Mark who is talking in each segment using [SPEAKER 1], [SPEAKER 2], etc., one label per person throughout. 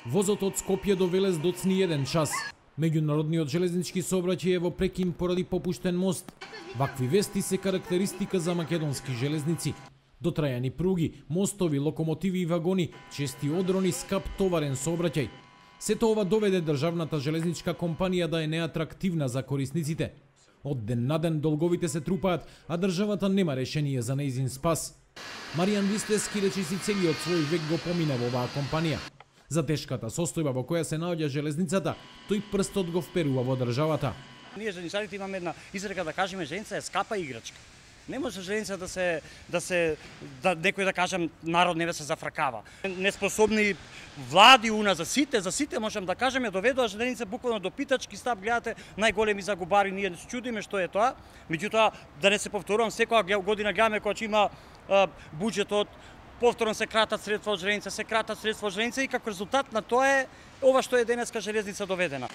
[SPEAKER 1] Возот од Скопје до Велес доцни 1 час. Меѓународниот железнички сообраќај е во прекин поради попуштен мост. Вакви вести се карактеристика за македонски железници. Дотрајани пруги, мостови, локомотиви и вагони, чести одрони, скап товарен сообраќај. Сето ова доведе државната железничка компанија да е неатрактивна за корисниците. Од ден на ден долговите се трупаат, а државата нема решение за нејзин спас. Маријан Вистески речиси целиот свој век го помина во оваа компанија. За тешката состојба во која се наоѓа железницата, тој прстот го вперува во државата.
[SPEAKER 2] Ние железничарите имаме една изрека да кажеме железница е скапа играчка. Не може железница да некој да кажам народ не се зафракава. Неспособни влади у нас за сите можам да кажеме доведоа железница буквално до питачки стап, гледате најголеми загубари, ние се чудиме што е тоа. Меѓутоа да не се повторувам, секоја година гледаме кога ќе има буџетот, повторно се кратат средства од железница, и како резултат на тоа е ова што е денеска железница доведена.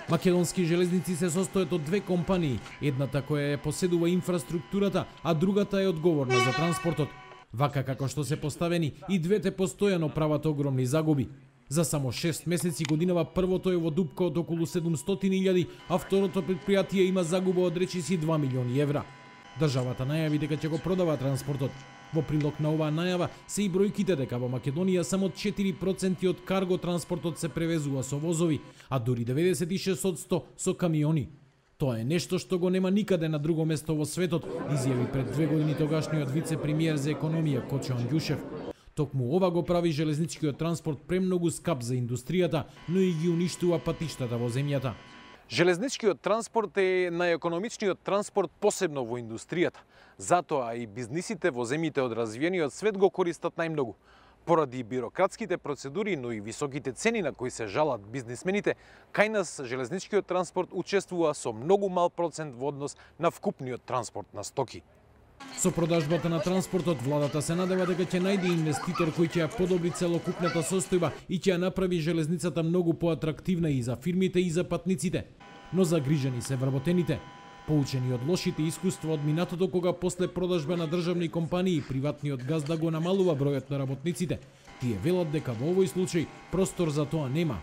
[SPEAKER 1] Македонски железници се состојат од две компании, едната која ја поседува инфраструктурата, а другата е одговорна за транспортот. Вака како што се поставени, и двете постојано прават огромни загуби. За само 6 месеци годинава првото е во дупка од околу 700.000, а второто предпријатие има загуба од речиси 2 милиони евра. Државата најави дека ќе го продава транспортот. Во прилог на оваа најава се и бројките дека во Македонија само 4% од карго транспортот се превезува со возови, а дури 96% со камиони. Тоа е нешто што го нема никаде на друго место во светот, изјави пред 2 години тогашниот вице-премиер за економија Кочо Андјушев. Токму ова го прави железничкиот транспорт премногу скап за индустријата, но и ги уништува патиштата во земјата.
[SPEAKER 3] Железничкиот транспорт е најекономичниот транспорт посебно во индустријата. Затоа и бизнисите во земјите од развиениот свет го користат најмногу. Поради бирократските процедури, но и високите цени на кои се жалат бизнисмените, кај нас железничкиот транспорт учествува со многу мал процент во однос на вкупниот транспорт на стоки.
[SPEAKER 1] Со продажбата на транспортот, владата се надева дека ќе најде инвеститор кој ќе ја подобри целокупната состојба и ќе ја направи железницата многу поатрактивна и за фирмите и за патниците. Но загрижени се вработените. Поучени од лошите искуства од минатото кога после продажба на државни компании приватниот газда го намалува бројот на работниците, тие велат дека во овој случај простор за тоа нема.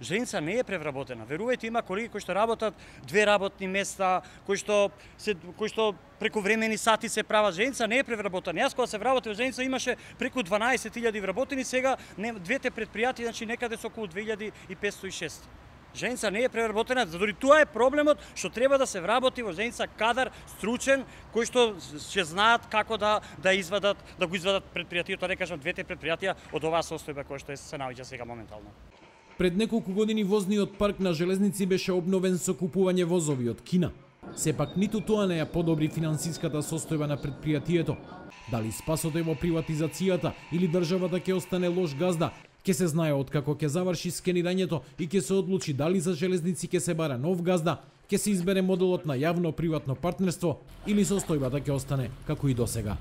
[SPEAKER 2] Железница не е превработена. Верувајте, има колеги кои што работат 2 работни места, кои што прековремени сати се прават. Железница не е превработена. Јас кога се вработив во железница имаше преку 12.000 вработени, сега двете предпријатија значи некаде со околу 2506. Железница не е превработена, дори тоа е проблемот што треба да се вработи во железница кадар стручен кој што ќе знаат како да го извадат предпријатието, да кажам двете предпријатија од оваа состојба која што се наоѓа сега моментално.
[SPEAKER 1] Пред неколку години возниот парк на железници беше обновен со купување возови од Кина. Сепак ниту тоа не ја подобри финансиската состојба на предпријатието. Дали спасот е во приватизацијата или државата ќе остане лош газда, ќе се знае откако ќе заврши скенирањето и ќе се одлучи дали за железници ќе се бара нов газда, ќе се избере моделот на јавно-приватно партнерство или состојбата ќе остане како и досега.